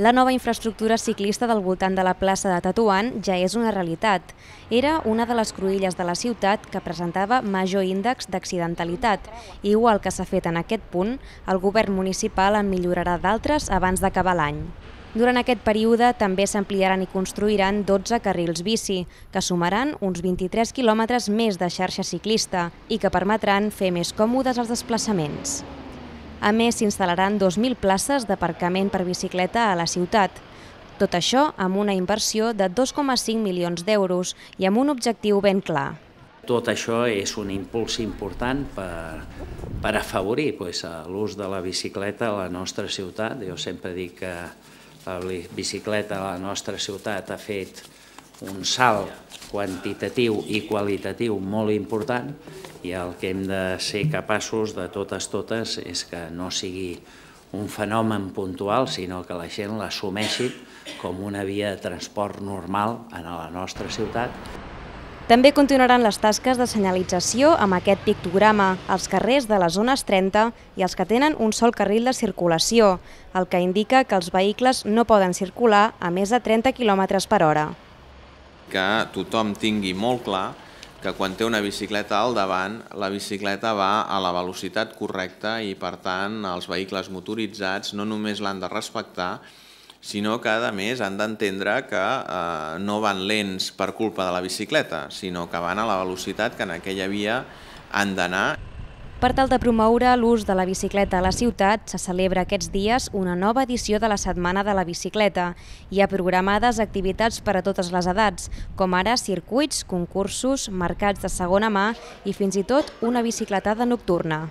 La nova infraestructura ciclista del voltant de la plaça de Tetuan ja és una realitat. Era una de les cruïlles de la ciutat que presentava major índex d'accidentalitat. Igual que s'ha fet en aquest punt, el govern municipal en millorarà d'altres abans d'acabar l'any. Durant aquest període també s'ampliaran i construiran 12 carrils bici, que sumaran uns 23 quilòmetres més de xarxa ciclista i que permetran fer més còmodes els desplaçaments. A més, s'instal·laran 2.000 places d'aparcament per bicicleta a la ciutat. Tot això amb una inversió de 2,5 milions d'euros i amb un objectiu ben clar. Tot això és un impuls important per afavorir l'ús de la bicicleta a la nostra ciutat. Jo sempre dic que la bicicleta a la nostra ciutat ha fet un salt quantitatiu i qualitatiu molt important i el que hem de ser capaços de totes és que no sigui un fenomen puntual, sinó que la gent l'assumeixi com una via de transport normal a la nostra ciutat. També continuaran les tasques de senyalització amb aquest pictograma als carrers de les zones 30 i els que tenen un sol carril de circulació, el que indica que els vehicles no poden circular a més de 30 km/h. Que tothom tingui molt clar que quan té una bicicleta al davant, la bicicleta va a la velocitat correcta i, per tant, els vehicles motoritzats no només l'han de respectar, sinó que, a més, han d'entendre que no van lents per culpa de la bicicleta, sinó que van a la velocitat que en aquella via han d'anar. Per tal de promoure l'ús de la bicicleta a la ciutat, se celebra aquests dies una nova edició de la Setmana de la Bicicleta. Hi ha programades activitats per a totes les edats, com ara circuits, concursos, mercats de segona mà i fins i tot una bicicletada nocturna.